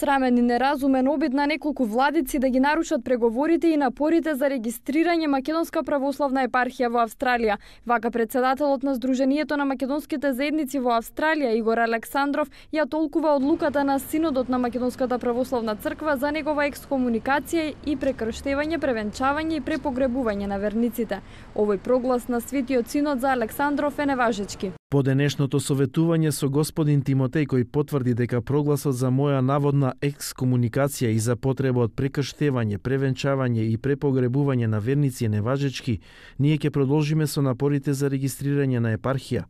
Срамен и неразумен обид на неколку владици да ги нарушат преговорите и напорите за регистрирање Македонска православна епархија во Австралија. Вака председателот на Сдруженијето на македонските заедници во Австралија Игор Александров ја толкува одлуката на Синодот на Македонската православна црква за негова екскомуникација и прекрштевање, превенчавање и препогребување на верниците. Овој проглас на Светиот Синод за Александров е неважечки. По денешното советување со господин Тимотеј, кој потврди дека прогласот за моја наводна екскомуникација и за потреба од прекрштевање, превенчавање и препогребување на верници е неважечки, ние ќе продолжиме со напорите за регистрирање на епархија.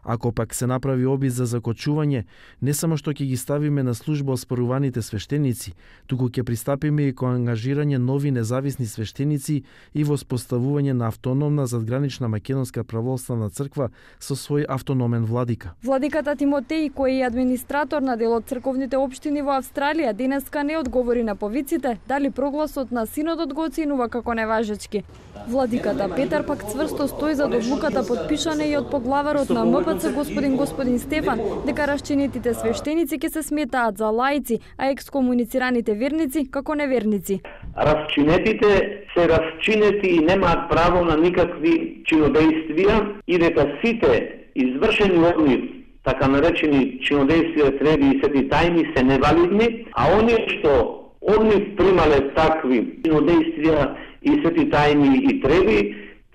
Ако пак се направи обид за закочување, не само што ќе ги ставиме на служба оспоруваните свештеници, туку ќе пристапиме и кон ангажирање нови независни свештеници и воспоставување на автономна задгранична македонска православна црква со свој автономен владика. Владиката Тимотеј, кој е администратор на дел од црковните општини во Австралија, денеска не одговори на повиците дали прогласот на Синодот го оценува како неважечки. Владиката Петар пак цврсто стои за одлуката подпишана и од поглаварот на МПЦ господин Стефан, дека расчинетите свештеници ќе се сметаат за лаици, а екскомуницираните верници како неверници. Расчинетите се расчинети и немаат право на никакви чинодејствија и дека сите извршени од нив, така наречени чинодејствија, треби и свети тајни се невалидни, а оние што од нив примале такви чинодејствија и свети тајни и треби,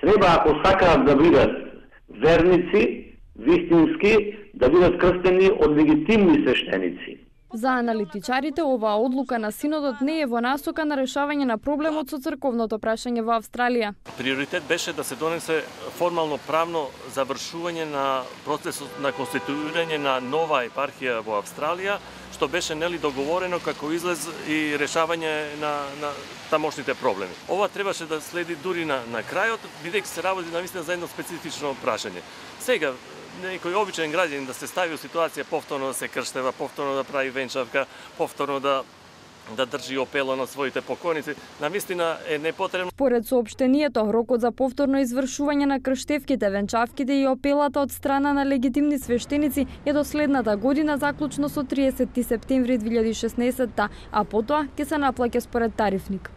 треба, ако сакаат да бидат верници, вистински, да бидат крстени од легитимни свештеници. За аналитичарите, оваа одлука на Синодот не е во насока на решавање на проблемот со црковното прашање во Австралија. Приоритет беше да се донесе формално правно завршување на процесот на конституирање на нова епархија во Австралија, што беше договорено како излез и решавање на тамошните проблеми. Ова требаше да следи дури на крајот, бидејќи се работи навистина за едно специфично прашање. Сега, некој обичен граѓанин да се стави во ситуација повторно да се крштева, повторно да прави венчавка, повторно да држи опела на своите покойници, навистина е непотребно. Според соопштението, рокот за повторно извршување на крштевките, венчавките и опелата од страна на легитимни свештеници е до следната година, заклучно со 30 септември 2016, а потоа ќе се наплаќа според тарифник.